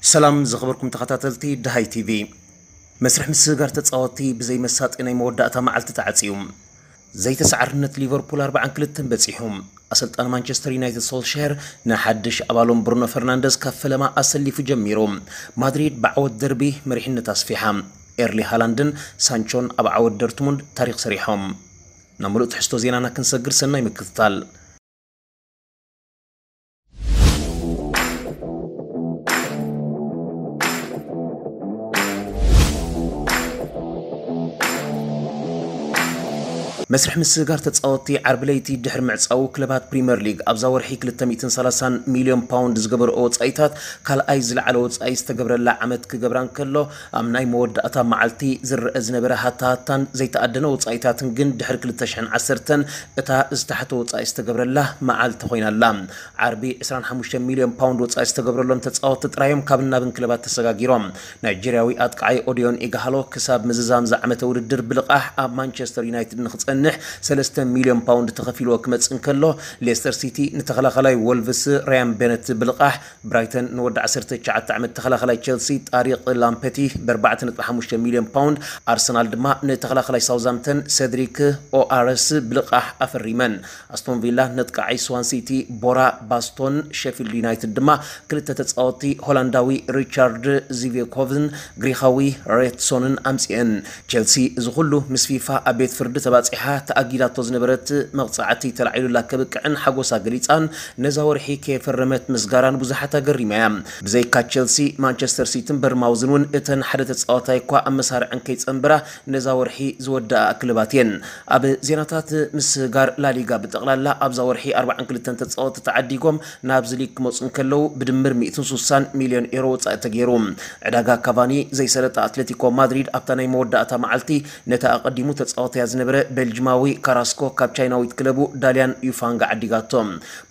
ሰላም ዝኸበርኩም ተኸታተልቲ ደሃይ ቲቪ። መስርሕ ምስግጋር ተጻወትቲ ብዘይ መሳጢ ናይ መወዳእታ መዓልቲ ተዓጽዩ። ዘይተሰዓርነት ሊቨርፑል ኣርብዓን ክልተን በጺሑ። ኣሰልጣኒ ማንቸስተር ዩናይትድ ሶልሻየር ንሓድሽ ኣባሎም ብሩኖ ፈርናንደዝ ካብ ፈለማ ኣሰሊፉ ጀሚሩ። ማድሪድ ብዓወት ደርቢ መሪሕነት ኣስፊሓ። ኤርሊ ሃላንድን ሳንቾን ኣብ ዓወት ዶርትሙንድ ታሪኽ ሰሪሖም። ናብ ምሉእ ትሕዝቶ ዜናና ክንሰግር ሰናይ ምክትታል። መስርሕ ምስግጋር ተጻወትቲ ዓርቢ ለይቲ ድሕሪ ምዕጻዉ ክለባት ፕሪምየር ሊግ ኣብዛ ወርሒ ክልተ ሚእትን ሰላሳን ሚልዮን ፓውንድ ዝገበርኦ ወጻኢታት ካልኣይ ዝለዓለ ወጻኢ ዝተገብረላ ዓመት ክገብራ እንከሎ ኣብ ናይ መወዳእታ መዓልቲ ዝረአ ዝነበረ ሃታሃታን ዘይተኣደነ ወጻኢታትን ግን ድሕሪ ክልተ ሽሕን ዓሰርተን እታ ዝተሓተ ወጻኢ ዝተገብረላ መዓልቲ ኮይና ኣላ። ዓርቢ ዕስራን ሓሙሽተን ሚልዮን ፓውንድ ወጻኢ ዝተገብረሎም ተጻወትቲ ጥራዮም ካብን ናብን ክለባት ተሰጋጊሮም። ናይጀርያዊ ኣጥቃዓይ ኦዲዮን ኢጋሃሎ ክሳብ ምዝዛም ዝዓመተ ውድድር ብልቓሕ ኣብ ማንቸስተር ዩናይትድ ንኽጸንሕ ሰለስተ ሚልዮን ፓውንድ ተኸፊልዎ ክመጽእ እንከሎ፣ ሌስተር ሲቲ ንተኸላኸላይ ወልቭስ ራያን ቤነት ብልቓሕ፣ ብራይተን ንወዲ ዓሰርተ ትሽዓተ ዓመት ተኸላኸላይ ቸልሲ ጣሪቕ ላምፐቲ ብ ኣርባዕተ ነጥቢ ሓሙሽተ ሚልዮን ፓውንድ፣ ኣርሰናል ድማ ንተኸላኸላይ ሳውዛምተን ሰድሪክ ኦኣረስ ብልቓሕ ኣፈሪመን። ኣስቶን ቪላ ነጥቃዓይ ስዋን ሲቲ ቦራ ባስቶን፣ ሼፊልድ ዩናይትድ ድማ ክልተ ተጻወትቲ ሆላንዳዊ ሪቻርድ ዚቬኮቭን ግሪኻዊ ሬትሶንን ኣምጺኤን። ቸልሲ እዚ ኩሉ ምስ ፊፋ ኣብ ቤት ፍርዲ ተባጺሓ ተኣጊዳቶ ዝነበረት መቕጻዕቲ ተላዒሉላ ከብቅዕን ሓጎሳ ገሊጻን ነዛ ወርሒ ከየፈረመት ምስጋራን ብዙሓት ኣገሪማ እያ። ብዘይካ ቸልሲ፣ ማንቸስተር ሲትን በርማውዝን እውን እተን ሓደ ተጻዋታይ እኳ ኣብ መሳርዐን ከይጸንበራ ነዛ ወርሒ ዝወደኣ ክለባት እየን። ኣብ ዜናታት ምስጋር ላሊጋ ብጠቕላላ ኣብዛ ወርሒ ኣርባዓን ክልተን ተጻወትቲ ተዓዲጎም ናብዚ ሊግ ክመጹ እንከለዉ ብድምር ሚእትን ሱሳን ሚልዮን ኤሮ ወጻኢ ተገይሩ። ዕዳጋ ካቫኒ ዘይሰለጠ ኣትሌቲኮ ማድሪድ ኣብታ ናይ መወዳእታ መዓልቲ ነቲ ኣቐዲሙ ተጻወተያ ዝነበረ ቤልጅማዊ ካራስኮ ካብ ቻይናዊት ክለቡ ዳልያን ዩፋንግ ዓዲጋቶ።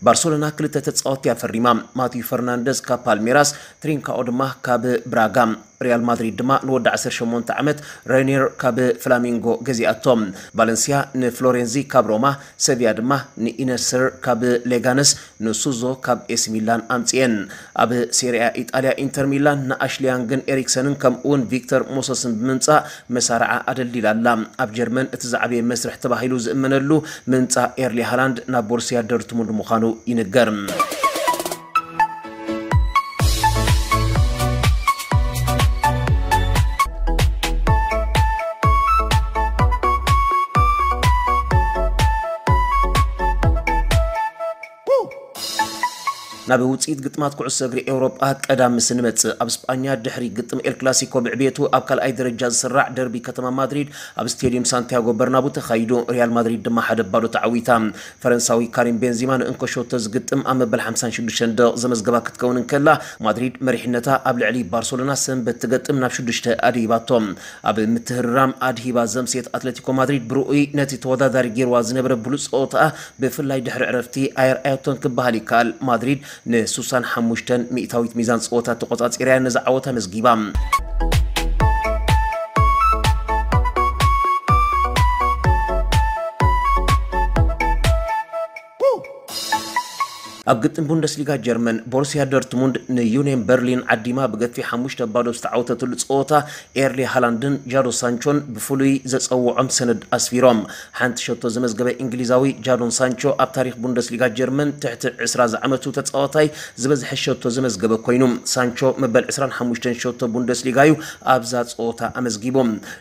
ባርሰሎና ክልተ ተጻወትቲ ኣፈሪማ። ማቲዩ ፈርናንደዝ ካብ ፓልሜራስ፣ ትሪንካኦ ድማ ካብ ብራጋ። ሪያል ማድሪድ ድማ ንወዲ ዓሰርተ ሸሞንተ ዓመት ሬኒር ካብ ፍላሚንጎ ገዚኣቶ። ቫለንሲያ ንፍሎሬንዚ ካብ ሮማ፣ ሰቪያ ድማ ንኢነስር ካብ ሌጋነስ፣ ንሱዞ ካብ ኤሲ ሚላን ኣምጽኤን። ኣብ ሴሪያ ኢጣልያ ኢንተር ሚላን ንኣሽሊ ያንግን ኤሪክሰንን ከምኡውን ቪክተር ሞሰስን ብምምጻእ መሳርዓ ኣደልዲላ ኣላ። ኣብ ጀርመን እቲ ዝዓበየ መስርሕ ተባሂሉ ዝእመነሉ ምምጻእ ኤርሊ ሃላንድ ናብ ቦሩሲያ ዶርትሙንድ ምዃኑ ይንገር። ናብ ውጽኢት ግጥማት ኩዕሶ እግሪ ኤውሮጳ ቀዳም ምስ እንመጽእ፣ ኣብ ስጳኛ ድሕሪ ግጥም ኤል ክላሲኮ ብዕብየቱ ኣብ ካልኣይ ደረጃ ዝስራዕ ደርቢ ከተማ ማድሪድ ኣብ ስቴድዩም ሳንቲያጎ በርናቡ ተኻይዱ። ሪያል ማድሪድ ድማ ሓደ ባዶ ተዓዊታ። ፈረንሳዊ ካሪም ቤንዚማ ንእንኮ ሸቶ ዝግጥም ኣብ መበል ሓምሳን ሽዱሽተን ደቂቕ ዘመዝገባ ክትከውን እንከላ፣ ማድሪድ መሪሕነታ ኣብ ልዕሊ ባርሰሎና ሰንበት ትገጥም ናብ ሽዱሽተ ኣድሂባቶ። ኣብ ምትህርራም ኣድሂባ ዘምስየት ኣትሌቲኮ ማድሪድ ብርኡይ ነቲ ተወዳዳሪ ገይርዋ ዝነበረ ብሉጽ ጸወታኣ ብፍላይ ድሕሪ ዕረፍቲ ኣየርኣየቶን ክበሃል ይከኣል። ማድሪድ ንሱሳን ሓሙሽተን ሚእታዊት ሚዛን ጸወታ ተቖጻጺርያ ነዚ ዓወት ኣመዝጊባ። ኣብ ግጥም ቡንደስሊጋ ጀርመን፣ ቦሩሲያ ዶርትሙንድ ንዩኒየን በርሊን ዓዲማ ብገፊሕ ሓሙሽተ ባዶ ዝተዓወተትሉ ጸወታ፣ ኤርሊ ሃላንድን ጃዶ ሳንቾን ብፍሉይ ዘጸውዖም ሰነድ ኣስፊሮም። ሓንቲ ሸቶ ዘመዝገበ እንግሊዛዊ ጃዶን ሳንቾ ኣብ ታሪኽ ቡንደስሊጋ ጀርመን ትሕቲ ዕስራ ዝዓመቱ ተጻዋታይ ዝበዝሐ ሸቶ ዘመዝገበ ኮይኑ፣ ሳንቾ መበል ዕስራን ሓሙሽተን ሸቶ ቡንደስሊጋ እዩ ኣብዛ ጸወታ ኣመዝጊቡ።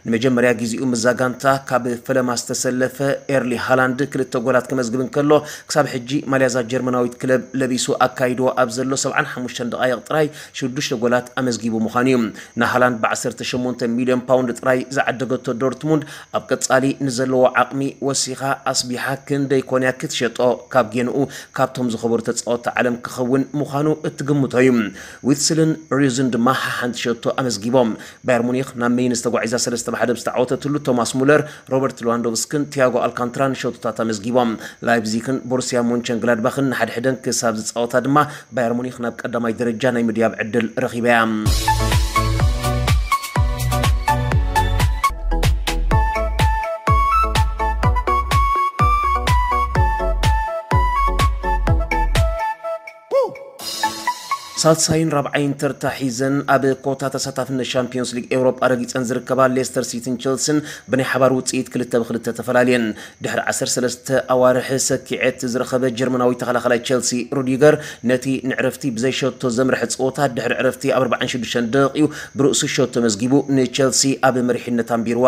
ንመጀመርያ ግዜኡ ምስዛ ጋንታ ካብ ፈለማ ዝተሰለፈ ኤርሊ ሃላንድ ክልተ ጎላት ከመዝግብ እንከሎ፣ ክሳብ ሕጂ ማልያዛ ጀርመናዊት ክለብ ለቢሱ ኣካይድዎ ኣብ ዘሎ ሰብዓን ሓሙሽተን ደቓይቕ ጥራይ ሽዱሽተ ጎላት ኣመዝጊቡ ምዃኑ እዩ። ንሃላንድ ብ ዓሰርተ ሸሞንተ ሚልዮን ፓውንድ ጥራይ ዝዓደገቶ ዶርትሙንድ፣ ኣብ ቀጻሊ ንዘለዎ ዓቕሚ ወሲኻ ኣስቢሓ ክንደይ ኮን እያ ክትሸጦ፣ ካብ ጌንኡ ካብቶም ዝኸበሩ ተጻወትቲ ዓለም ክኸውን ምዃኑ እትግምቶ እዩ። ዊትስልን ሪዩዝን ድማ ሓሓንቲ ሸቶ ኣመዝጊቦም። ባየር ሙኒክ ናብ ሜይንስ ተጓዒዛ ሰለስተ ብ ሓደ ብዝተዓወተትሉ፣ ቶማስ ሙለር፣ ሮበርት ሌዋንዶቭስክን ቲያጎ ኣልካንትራን ሸቶታት ኣመዝጊቦም። ላይፕዚግን ቦሩሲያ ሞንቸንግላድባኽን ንሓድሕደን ክሳብ ዝጻወታ ድማ፣ ባየር ሙኒክ ናብ ቀዳማይ ደረጃ ናይ ምድያብ ዕድል ረኺባ እያ። ሳልሳይን ራብዓይን ተርታ ሒዘን ኣብ ኮታ ተሳታፍነት ሻምፒዮንስ ሊግ ኤውሮጳ ረጊጸን ዝርከባ ሌስተር ሲቲን ቸልሲን ብናይ ሓባር ውጽኢት ክልተ ብክልተ ተፈላልየን። ድሕሪ ዓሰርተ ሰለስተ ኣዋርሕ ሰኪዐት ዝረኸበ ጀርመናዊ ተኸላኻላይ ቸልሲ ሩዲገር ነቲ ንዕረፍቲ ብዘይ ሸቶ ዘምርሐ ጸወታ ድሕሪ ዕረፍቲ ኣብ ኣርባዓን ሽዱሽተን ደቂቑ ብርእሱ ሸቶ መዝጊቡ ንቸልሲ ኣብ መሪሕነት ኣንቢርዋ።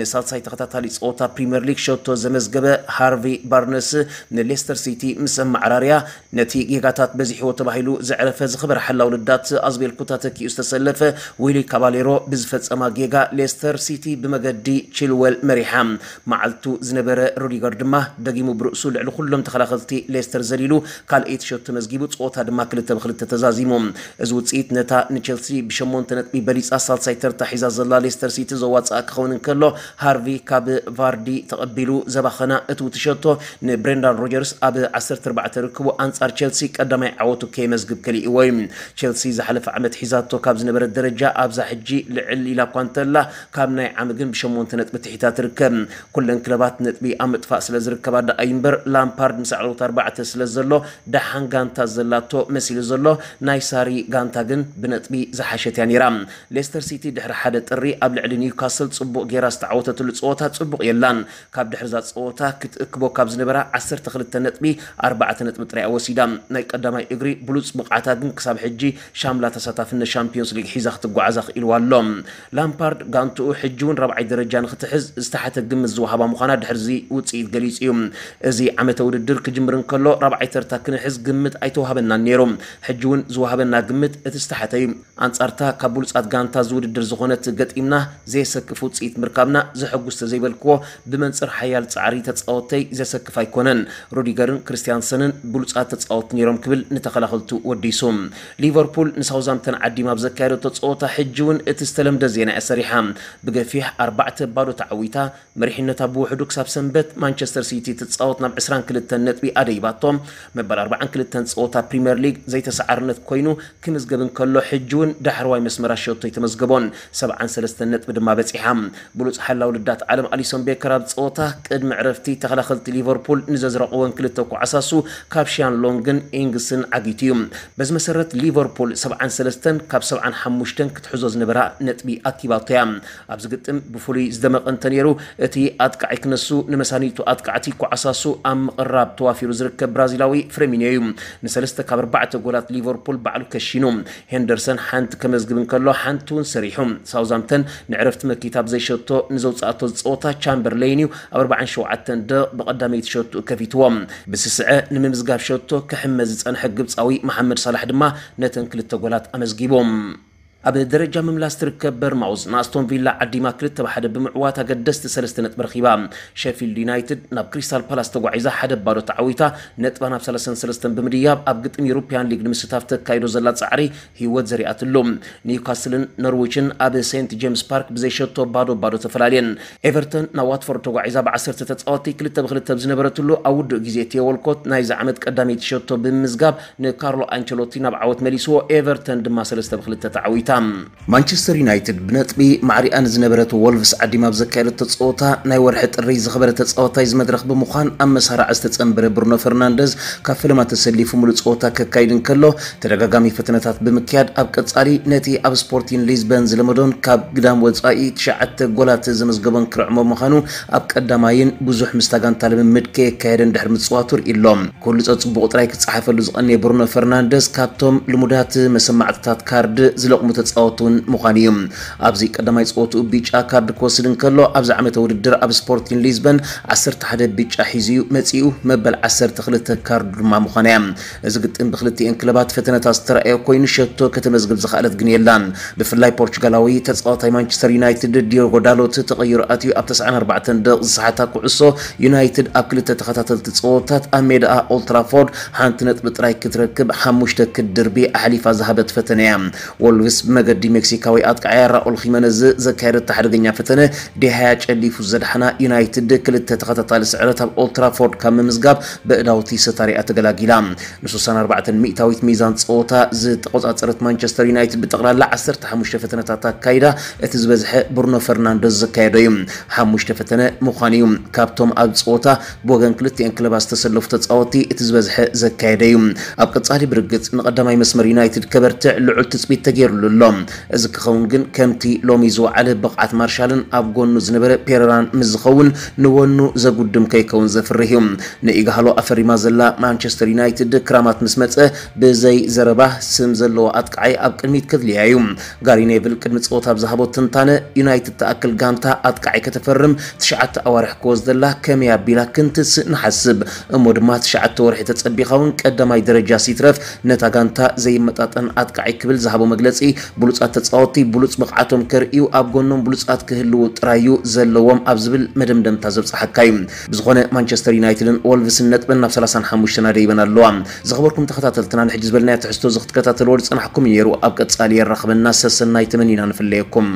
ንሳልሳይ ተኸታታሊ ጸወታ ፕሪምየር ሊግ ሸቶ ዘመዝገበ ሃርቪ ባርነስ ንሌስተር ሲቲ ምስ ኣመዓራርያ ነቲ ጌጋታት በዚሕዎ ተባሂሉ ዘዕረፈ ዝኸበረ ሓላው ልዳት ኣዝቤልኩታ ተኪኡ ዝተሰለፈ ዊሊ ካባሌሮ ብዝፈጸማ ጌጋ ሌስተር ሲቲ ብመገዲ ቺልወል መሪሓ። መዓልቱ ዝነበረ ሩዲገር ድማ ደጊሙ ብርእሱ ልዕሊ ኩሎም ተኸላኸልቲ ሌስተር ዘሊሉ ካልኣይቲ ሸቶ መዝጊቡ ጸወታ ድማ ክልተ ብክልተ ተዛዚሙ። እዚ ውጽኢት ነታ ንቸልሲ ብሸሞንተ ነጥቢ በሊጻ ሳልሳይ ተርታ ሒዛ ዘላ ሌስተር ሲቲ ዘዋጽኣ ክኸውን እንከሎ ሃርቪ ካብ ቫርዲ ተቐቢሉ ዘባኸና እቲ ውትሸቶ ንብሬንዳን ሮጀርስ ኣብ ዓሰርተ ኣርባዕተ ርክቡ ኣንጻር ቸልሲ ቀዳማይ ዓወቱ ከየመዝግብ ከሊእዎ እዩ። ቸልሲ ዝሓለፈ ዓመት ሒዛቶ ካብ ዝነበረት ደረጃ ኣብዛ ሕጂ ልዕል ኢላ እኳ እንተላ ካብ ናይ ዓሚ ግን ብሸሞንተ ነጥቢ ትሒታ ትርከብ። ኩለን ክለባት ነጥቢ ኣብ ምጥፋእ ስለ ዝርከባ ደኣ እዩ እምበር ላምፓርድ ምስ ኣዕለውት ኣርባዕተ ስለ ዘሎ ደሓን ጋንታ ዘላቶ መሲሉ ዘሎ ናይ ሳሪ ጋንታ ግን ብነጥቢ ዝሓሸት እያ ነይራ። ሌስተር ሲቲ ድሕሪ ሓደ ጥሪ ኣብ ልዕሊ ኒውካስል ጽቡቕ ጌራ ዝተዓወተትሉ ጸወታ ጽቡቕ የላን። ካብ ድሕሪ እዛ ጸወታ ክትእክቦ ካብ ዝነበራ ዓሰርተ ክልተ ነጥቢ ኣርባዕተ ነጥቢ ጥራይ ወሲዳ። ናይ ቀዳማይ እግሪ ብሉጽ ብቕዓታ ግን ክሳብ ሕጂ ሻምላ ተሳታፍነት ሻምፒዮንስ ሊግ ሒዛ ክትጓዓዛ ክኢልዋ ኣሎ። ላምፓርድ ጋንትኡ ሕጂ እውን ራብዓይ ደረጃ ንክትሕዝ ዝተሓተ ግምት ዝወሃባ ምዃና ድሕርዚ ውጽኢት ገሊጹ እዩ። እዚ ዓመተ ውድድር ክጅምር እንከሎ ራብዓይ ተርታ ክንሕዝ ግምት ኣይተዋህበናን ነይሩ። ሕጂ እውን ዝወሃበና ግምት እቲ ዝተሓተ እዩ። ኣንጻርታ ካብ ብሉጻት ጋንታ ዝውድድር ዝኾነት ገጢምና ዘየሰክፍ ውጽኢት ምርካብና ዘሐጉስ ተዘይበልክዎ ብመንጽር ሓያል ጻዕሪ ተጻወተይ ዘሰክፍ ኣይኮነን። ሩዲገርን ክርስቲያንሰንን ብሉጻት ተጻወት ነይሮም ክብል ንተኸላኸልቱ ወዲሱ። ሊቨርፑል ንሳውዛምተን ዓዲማ ኣብ ዘካየደቶ ጸወታ ሕጂ እውን እቲ ዝተለምደ ዜና እያ ሰሪሓ። ብገፊሕ ኣርባዕተ ባዶ ተዓዊታ መሪሕነታ ብውሕዱ ክሳብ ሰንበት ማንቸስተር ሲቲ ትጻወት ናብ ዕስራን ክልተን ነጥቢ ኣደይባቶ። መበል ኣርባዓን ክልተን ጸወታ ፕሪምየር ሊግ ዘይተሰዓርነት ኮይኑ ክምዝገብ እንከሎ ሕጂ እውን ዳሕረዋይ መስመራ ሸቶ ኣይተመዝገቦን። ሰብዓን ሰለስተን ነጥቢ ድማ በጺሓ። ብሉጽ ሓላው ልዳት ዓለም ኣሊሶን ቤከር ኣብ ጸወታ ቅድሚ ዕረፍቲ ተኸላኸልቲ ሊቨርፑል ንዘዝረቕወን ክልተ ኳዕሳሱ ካብ ሺያን ሎንግን ኢንግስን ዓጊቱ እዩ። በዚ መሰረት ሊቨርፑል ሰብዓን ሰለስተን ካብ ሰብዓን ሓሙሽተን ክትሕዞ ዝነበራ ነጥቢ ኣኪባቶ እያ። ኣብዚ ግጥም ብፍሉይ ዝደመቐ እንተነይሩ እቲ ኣጥቃዒ ክነሱ ንመሳኒቱ ኣጥቃዕቲ ኳዕሳሱ ኣብ ምቕራብ ተዋፊሩ ዝርከብ ብራዚላዊ ፍረሚኒዮ እዩ። ንሰለስተ ካብ ኣርባዕተ ጎላት ሊቨርፑል ባዕሉ ከሺኑ። ሄንደርሰን ሓንቲ ከመዝግብ እንከሎ ሓንቲ እውን ሰሪሑ። ሳውዛምተን ንዕረፍቲ መኪታ ብዘይሸቶ ንዘውፅኣቶ ዝፀወታ ቻምበርለይን እዩ ኣብ ኣርባዓን ሸውዓተን ደቕ ብቐዳመይቲ ሸቱ ከፊትዎ። ብስስዐ ንምምዝጋብ ሸቶ ክሕመ ዝፀንሐ ግብፃዊ መሓመድ ሳላሕ ድማ ነተን ክልተ ጎላት ኣመዝጊቡ። ኣብ ደረጃ ምምላስ ትርከብ በርማውዝ ንኣስቶን ቪላ ዓዲማ ክልተ ብሓደ ብምዕዋት ኣገደስቲ ሰለስተ ነጥቢ ረኺባ። ሸፊልድ ዩናይትድ ናብ ክሪስታል ፓላስ ተጓዒዛ ሓደ ባዶ ተዓዊታ ነጥባ ናብ ሰላሳን ሰለስተን ብምድያብ ኣብ ግጥም ዩሮፒያን ሊግ ንምስታፍ ተካይዶ ዘላ ጻዕሪ ህይወት ዘሪኣትሉ። ኒውካስልን ኖርዊችን ኣብ ሴንት ጄምስ ፓርክ ብዘይሸቶ ባዶ ባዶ ተፈላለየን። ኤቨርተን ናብ ዋትፎርድ ተጓዒዛ ብዓሰርተ ተጻወትቲ ክልተ ብክልተ ብዝነበረትሉ ኣብ ውዱእ ግዜ ቲዮ ወልኮት ናይዚ ዓመት ቀዳመይቲ ሸቶ ብምምዝጋብ ንካርሎ ኣንቸሎቲ ናብ ዓወት መሊስዎ። ኤቨርተን ድማ ሰለስተ ብክልተ ተዓዊታ። ማንቸስተር ዩናይትድ ብነጥቢ ማዕሪኣ ንዝነበረት ወልቭስ ዓዲማ ኣብ ዘካየደቶ ጸወታ ናይ ወርሒ ጥሪ ዝኸበረ ተጻዋታይ እዚ መድረኽ ብምዃን ኣብ መሳርዕ ዝተጸንበረ ብሩኖ ፈርናንደዝ ካብ ፈለማ ተሰሊፉ ሙሉእ ጸወታ ከካይድ እንከሎ ተደጋጋሚ ፈተነታት ብምክያድ ኣብ ቀጻሊ ነቲ ኣብ ስፖርቲን ሊዝበን ዝለመዶን ካብ ግዳም ወጻኢ ትሽዓተ ጎላት ዘመዝገቦን ክርዕሞ ምዃኑ ኣብ ቀዳማይን ብዙሕ ምስታ ጋንታ ልምምድ ከየካየደ እንድሕር ምጽዋቱ ርእዩ ኣሎ። ኩሉ ጸጽቡቑ ጥራይ ክጸሓፈሉ ዝቐነየ ብሩኖ ፈርናንደስ ካብቶም ልሙዳት መሰማዕትታት ካርድ ዝለቕሙ ተጻወትቲ እውን ምዃኑ እዩ። ኣብዚ ቀዳማይ ጸወትኡ ቢጫ ካርድ ክወስድ እንከሎ ኣብዚ ዓመተ ውድድር ኣብ ስፖርቲን ሊዝበን ዓሰርተ ሓደ ቢጫ ሒዙ እዩ መጺኡ፣ መበል ዓሰርተ ክልተ ካርዱ ድማ ምዃና እያ። እዚ ግጥም ብክልቲኤን ክለባት ፈተነታት ዝተረኣየ ኮይኑ ሸቶ ከተመዝግብ ዝኸኣለት ግን የላን። ብፍላይ ፖርቹጋላዊ ተጻዋታይ ማንቸስተር ዩናይትድ ዲዮጎ ዳሎት ተቐይሩ ኣትዩ ኣብ ተስዓን ኣርባዕተን ደቕ ዝሰሓታ ኩዕሶ ዩናይትድ ኣብ ክልተ ተኸታተልቲ ጸወታት ኣብ ሜዳኣ ኦልትራፎርድ ሓንቲ ነጥቢ ጥራይ ክትረክብ ሓሙሽተ ክትድርቢ ኣሕሊፋ ዝሃበት ፈተነ እያ። ወልቭስ መገዲ ሜክሲካዊ ኣጥቃዓያ ራኡል ኺመነዝ ዘካየደታ ሓደገኛ ፈተነ ዴሃያ ጨሊፉ ዘድሓና ዩናይትድ ክልተ ተኸታታሊ ስዕረት ኣብ ኦልትራፎርድ ካብ ምምዝጋብ ብእዳውቲ ሰታሪኣ ተገላጊላ። ን64 ሚእታዊት ሚዛን ጸወታ ዝተቆጻጸረት ማንቸስተር ዩናይትድ ብጠቕላላ 15 ፈተነታት ኣካይዳ፣ እቲ ዝበዝሐ ብሩኖ ፈርናንደዝ ዘካየዶ እዩ። ሓሙሽተ ፈተነ ምዃኑ እዩ። ካብቶም ኣብ ጸወታ ብወገን ክልቲኤን ክለባት ዝተሰለፉ ተጻወቲ እቲ ዝበዝሐ ዘካየደ እዩ። ኣብ ቀጻሊ ብርግጽ ንቐዳማይ መስመር ዩናይትድ ከበርትዕ ልዑል ትጽቢት ተገይሩሉ ኣሎ። እዚ ክኸውን ግን ከምቲ ሎሚ ዝወዓለ ብቕዓት ማርሻልን ኣብ ጎኑ ዝነበረ ፔረራን ምስ ዝኸውን ንወኑ ዘጉድም ከይከውን ዘፍርህ እዩ። ንኢጋሃሎ ኣፈሪማ ዘላ ማንቸስተር ዩናይትድ ክራማት ምስ መጸ ብዘይ ዘረባ ስም ዘለዎ ኣጥቃዓይ ኣብ ቅድሚት ከድልያ እዩ። ጋሪ ኔቭል ቅድሚ ጸወታ ኣብ ዝሃቦ ትንታነ ዩናይትድ ትኣክል ጋንታ ኣጥቃዓይ ከተፈርም ትሽዓተ ኣዋርሕ ክወስደላ ከመይ ኣቢላ ክንትስእ ንሓስብ እሞ ድማ ትሽዓተ ወርሒ ተጸቢኻ እውን ቀዳማይ ደረጃ ሲትረፍ ነታ ጋንታ ዘይመጣጠን ኣጥቃዓይ ክብል ዝሃቦ መግለጺ ብሉጻት ተጻወቲ ብሉጽ ብቕዓቶም ከርእዩ ኣብ ጎኖም ብሉጻት ክህልዉ ጥራይ እዩ ዘለዎም ኣብ ዝብል መደምደምታ ዘብጽሓካ እዩ። ብዝኾነ ማንቸስተር ዩናይትድን ወልቭስን ነጥበን ናብ 35 ናደይበን ኣለዋ። ዝኸበርኩም ተኸታተልትና ንሕጂ ዝበልናዮ ትሕዝቶ እዚ ክትከታተልዎ ዝጸናሕኩም እዩ ነይሩ። ኣብ ቀጻሊ የራኽበና ሰሰናይ ተመኒና ንፍለየኩም።